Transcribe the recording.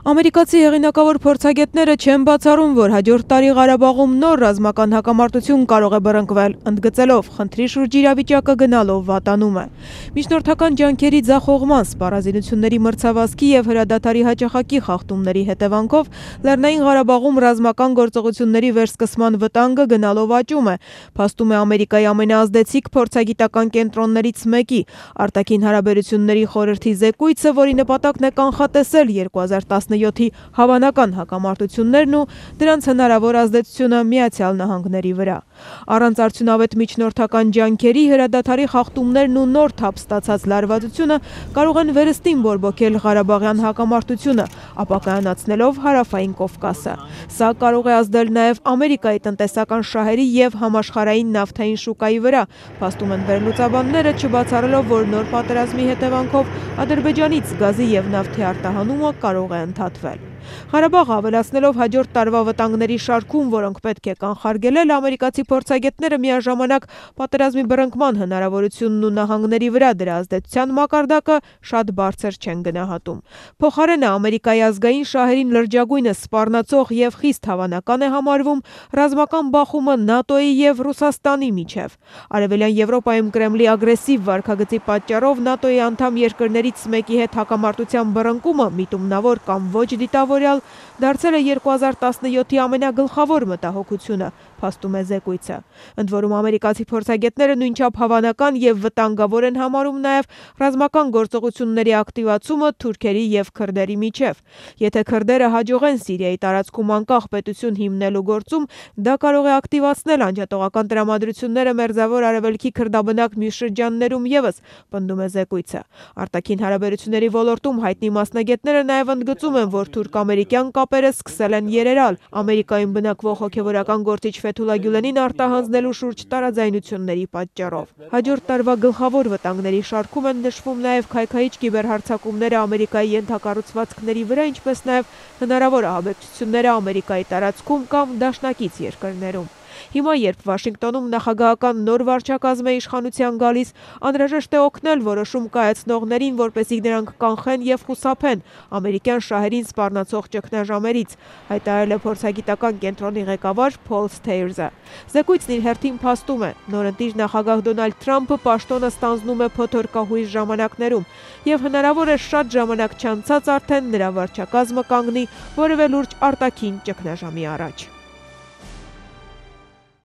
Ամերիկացի հեղինակավոր փորձագետները չեն բացառում, որ հաջորդ տարի Ղարաբաղում նոր ռազմական հակամարտություն կարող է բռնկվել, ընդգծելով խնդրի շուրջ իրավիճակը գնալով վատանում է։ Միջնորդական ջանքերի ձախողման, սպառազինությունների մրցավազքի եւ հրադադարի հաճախակի խախտումների հետևանքով Լեռնային Ղարաբաղում ռազմական գործողությունների վերսկսման վտանգը գնալով աճում է, փաստում է Ամերիկայի ամենաազդեցիկ փորձագիտական կենտրոններից մեկի արտաքին հարաբերությունների խորհրդի զեկույցը, որի նպատակն է կանխատեսել 2017-ի հավանական հակամարտություններն ու դրանց հնարավոր ազդեցությունը Միացյալ Նահանգների վրա։ Առանց արդյունավետ միջնորդական ջանքերի հրադադարի խախտումներն ու նոր թափ ստացած լարվածությունը կարող են վերստին բորբոքել Ղարաբաղյան հակամարտությունը, ապակայանացնելով Հարավային Կովկասը։ Սա կարող է ազդել նաև Ամերիկայի տնտեսական շահերի եւ համաշխարհային նավթային շուկայի վրա, փաստում են վերլուծաբանները, չբացառելով, որ նոր պատերազմի հետևանքով Ադրբեջանից գազի եւ նավթի արտահանումը կարող է ընդհատվել։ Ղարաբաղը ավելացնելով հաջորդ տարվա վտանգների շարքում, որոնք պետք է կանխարգելել, ամերիկացի փորձագետները միաժամանակ պատերազմի բռնկման հնարավորությունն ու նահանգների վրա դրա ազդեցության մակարդակը շատ բարձր չեն գնահատում։ Փոխարենը Ամերիկայի ազգային շահերին լրջագույնս սպառնացող եւ խիստ հավանական է համարվում ռազմական բախումը ՆԱՏՕ-ի եւ Ռուսաստանի միջև։ Արևելյան Եվրոպայում Կրեմլի ագրեսիվ վարքագծի պատճառով ՆԱՏՕ-ի անդամ երկրներից մեկի հետ հակամարտության բռնկումը միտումնավոր կամ ոչ դիտավորյալ դարձել է 2017-ի ամենագլխավոր մտահոգությունը, փաստում է զեկույցը։ Ընդ որում ամերիկացի փորձագետները նույնչափ հավանական եւ վտանգավոր են համարում նաեւ ռազմական գործողությունների ակտիվացումը թուրքերի եւ քրդերի միջև։ Եթե քրդերը հաջողեն Սիրիայի տարածքում անկախ պետություն հիմնելու գործում, դա կարող է ակտիվացնել անջատողական տրամադրությունները Մերձավոր Արևելքի քրդաբնակ մյուս շրջաններում եւս, պնդում է զեկույցը։ Արտաքին հարաբերությունների ոլորտում հայտնի մասնագետները նաեւ ընդգծում են, որ թուրք-ամերիկյան կապերը սկսել են երերալ Ամերիկայում բնակվող հոգևորական գործիչ Ֆեթուլա Գյուլենին արտահանձնելու շուրջ տարաձայնությունների պատճառով։ Հաջորդ տարվա գլխավոր վտանգների շարքում են նշվում նաև քայքայիչ կիբերհարձակումները Ամերիկայի ենթակառուցվածքների վրա, ինչպես նաև հնարավոր ահաբեկչությունները Ամերիկայի տարածքում կամ դաշնակից երկրներում։ Հիմա, երբ Վաշինգտոնում նախագահական նոր վարչակազմ է իշխանության գալիս, անհրաժեշտ է օգնել որոշում կայացնողներին, որպեսզի նրանք կանխեն եւ խուսափեն ամերիկյան շահերին սպառնացող ճգնաժամերից, հայտարարել է փորձագիտական կենտրոնի ղեկավար Փոլ Սթեյրզը։ Զեկույցն իր հերթին փաստում է, նորընտիր նախագահ Դոնալդ Թրամփը պաշտոնը ստանձնում է փոթորկահույս ժամանակներում, եւ հնարավոր է շատ ժամանակ չանցած արդեն նրա վարչակազմը կանգնի որևէ լուրջ արտաքին ճգնաժամի առաջ։